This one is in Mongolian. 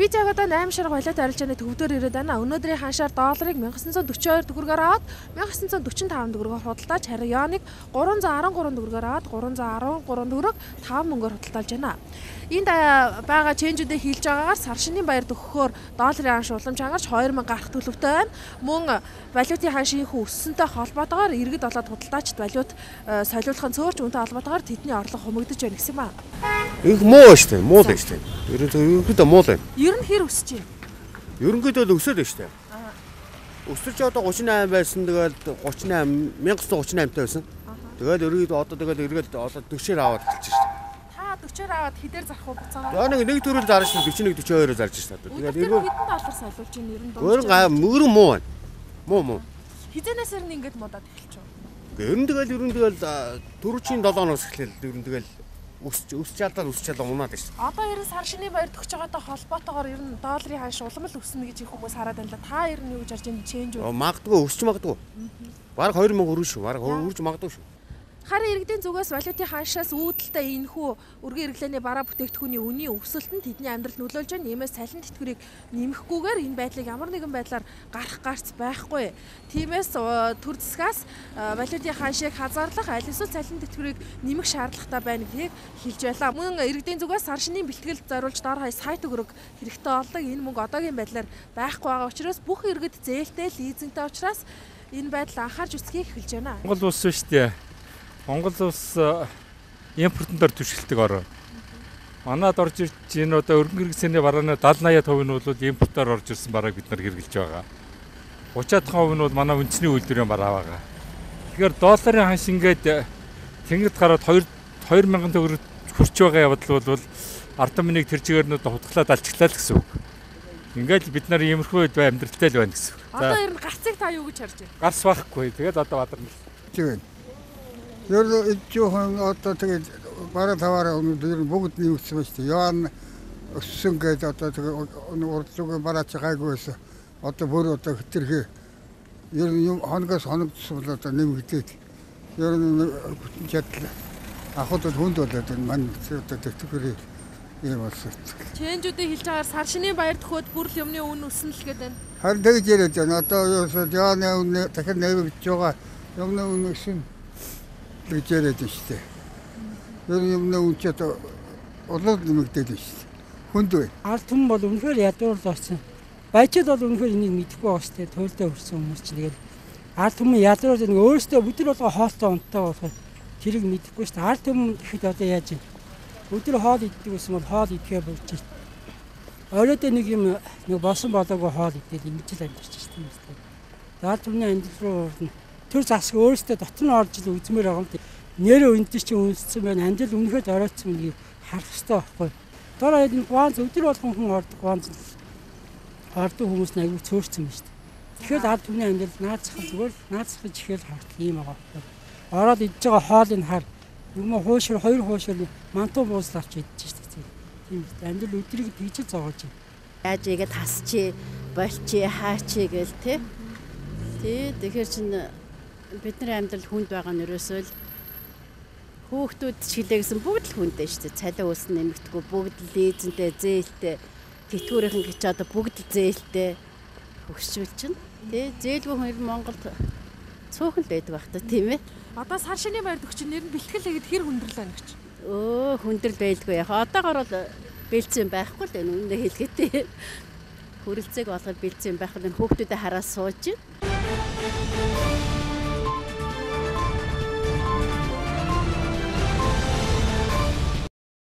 бид яг одоо 8 шар голиот арилжааны төвдөр ирээд байна. Өнөөдрийн ханшаар долларыг 1942 төгрөгөөр аваад 1945 төгрөгөөр худалдаж, харин юаныг 313 төгрөгөөр аваад 313 төгрөг 5 мөнгөөр худалдаж байна. Энд байгаа ченжүүдээ хийлж байгаагаар сар шинийн баяр төгөхөөр долларын ханш уламж хангарч 2000 гарах төлөвтэй байна. Мөн валютын ханшийн өссөнтэй холбоотойгоор иргэд болоод худалдаачд валют солиулахын цөөрч үнэтэй холбоотойгоор тэдний орлого хумигдаж байна гэсэн юм аа. Их муу шүү дээ, муу л шүү дээ. Ерөнхийдөө муу л байна. Ер нь хэр өсөж байна? Ерөнхийдөө л өсөд байна шүү дээ. Өсөрч одоо 38 байсан, тэгэл 38 1938 та байсан. Тэгэл ерөөд одоо тэгэл эргээд одоо 40-аар аваад хэлчих шүү дээ. 40-аар аваад хэдээр зарах уу буцаагаа? За нэг төрөл зарж шүү 41 42-оор зарж шүү дээ. Тэгээд эргөө хэдэн доллар солиулж ийн ер нь мөрөн муу байна. Муу. Хизэнээс ер нь ингэж модаад эхэлж байгаа. Ер нь тэгэл төрүүчийн 7-оноос эхлээл ер нь тэгэл өсч чадаад унаад байна шүү. Одоо ер нь сар шинийн баяр төгсөж байгаатай холбоотойгоор ер нь долларын ханш улам л өснө гэж их хүмүүс хараад байна л да. Та ер нь юу гэж харж байна? Ченж үү? Магадгүй өсч магадгүй. Бараг 2000 өргөн шүү. Бараг өрж магадгүй шүү. Харин иргэдийн зүгээс валютын ханшаас үүдэлтэй энэхүү өргөн хэрэглээний бараа бүтээгдэхүүний үнийн өсөлтөнд тэдний амьдрал нөлөөлж байна. Иймээс цалин тэтгэврийг нэмэхгүйгээр энэ байдлыг ямар нэгэн байдлаар гарах гарц байхгүй. Тиймээс төр засгаас валютын ханшийг хязгаарлах, аль эсвэл цалин тэтгэврийг нэмэх шаардлагатай байна гэдгийг хэлж байлаа. Мөн иргэдийн зүгээс сар шинийн бэлтгэлд зориулж дор хаяа сая төгрөг хэрэгтэй болдог. Энэ мөнгө одоогийн байдлаар байхгүй байгаа учраас бүх иргэд зээлтэй, лизингтэй учраас энэ байдал анхаарч үзхийг хэлж байна. Монгол улс шүү дээ. Монгол улс импортоор түшгэлдэг орн. Манад орж ирж энэ одоо өргөн хэрэгцээний барааны 70-80% нь бол импортоор орж ирсэн барааг бид нар хэрэгжилж байгаа. 30% нь бол манай үндэсний үйлдвэрийн бараа байгаа. Тэгэхээр долларын ханш ингээд тэнгид гараад 2000 төгрөг хүрч байгаа явдал бол ард түмнийг тэр чигээрнүүд хутглаад алчглаа л гэсэн үг. Ингээд бид нар иймэрхүү амьдралтай л байна гэсэн үг. Одоо ер нь гарцыг та юу гэж харж байна? Гарц байхгүй. Тэгээд одоо бадарна. Тийм. Ер нь ижүүхэн одоо тэгээд бараа таваараа өнөөдөр бүгд нэмэгдсэн ба шүү дээ. Яан өссөн гэдэг одоо тэгээд урдлуугийн бараач гайгүй байсан. Одоо бүр одоо хэтэрхий ер нь хоногоос хоногдсон бол одоо нэмэгдээд ер нь чадлаа. Ахуйд хүнд болоод энэ мань одоо тэтгэврийн юм болсон. Ченжүүдээ хэлж байгаагаар сар шинийн баяр төхөөд бүрл юмны үн өснө л гэдэг байна. Харин тэгж яриад байна. Одоо яаны үн дахин нэмэгдэж байгаа юмны үн өснө гэж яриад байна шүү дээ. Ер нь юмны үн ч одоо улууд нэмэгдээд байна шүү дээ. Хүнд бай. Ард түмэн бол үнэхээр ядуур болсон. Баячид бол үнэхээр энийг мэдэхгүй байгаа шүү дээ. Туйлдаа хүрсэн хүмүүс ч тэгээд ард түмэн ядуур нэг өөрөөсөө бүдэр болгоо хоолтой унтаа болохоор тэрийг мэдэхгүй шүү дээ. Ард түмэн гэхэд одоо яаж юм? Өдөр хоол иддэг гэсэн бол хоол идэхээ болж байна. Оройдоо нэг юм нэг босон болоогүй хоол идэл ингэж л амьдарч шүү дээ. Ард түмний амьдрал руу орно. Тэр засаг өөрөөсөө дотор нь орж ил үзмээр байгаа юм. Нэрээ үнтэй чи үнссэн байна. Амьдрал үнэхээр оройтсан гэдгийг харах хэрэгтэй байхгүй. Дор хаяад энэ гуанз өдөр болгон хүн ордог гуанз ордог хүмүүс нь аягүй цөөрцөн байна шүү дээ. Тэгэхээр ард түмний амьдрал наацхан зүгээр наацхаж ихээр хартал юм байгаа. Ороод идж байгаа хоолыг хар юм хуушир хоёр хуушир мантуу бууслаач идэж шүү дээ. Тийм амьдрал өдрийг тийж зоогож байна. Яаж игээд хасчи, болчи, хаачи гэл тэ. Тэгэхээр чин бидний амьдрал хүнд байгаа нь ерөөсөө л хүүхдүүд чиглээ гэсэн бүгд л хүндээ шүү дээ. Цалин ус нэмэгдэхгүй бүгд лизэнтэй, зээлтэй, тэтгэврийн гэж одоо бүгд зээлтэй хөгшүүлж байна. Тэ зээлгүй хүн Монголд цөөхөн л байдаг байх та тийм ээ. Одоо сар шинийн баяр төгч нэр нь бэлтгэл хийгээд хэр хүндрэл байна гэж. Хүндрэл байлгүй яа. Одоогоор бол бэлцэн байхгүй л энэ үнэ хэлгээтэй. Хүрэлцээг болгоод бэлцэн байх нь хүүхдүүдэд хараа сууж байна.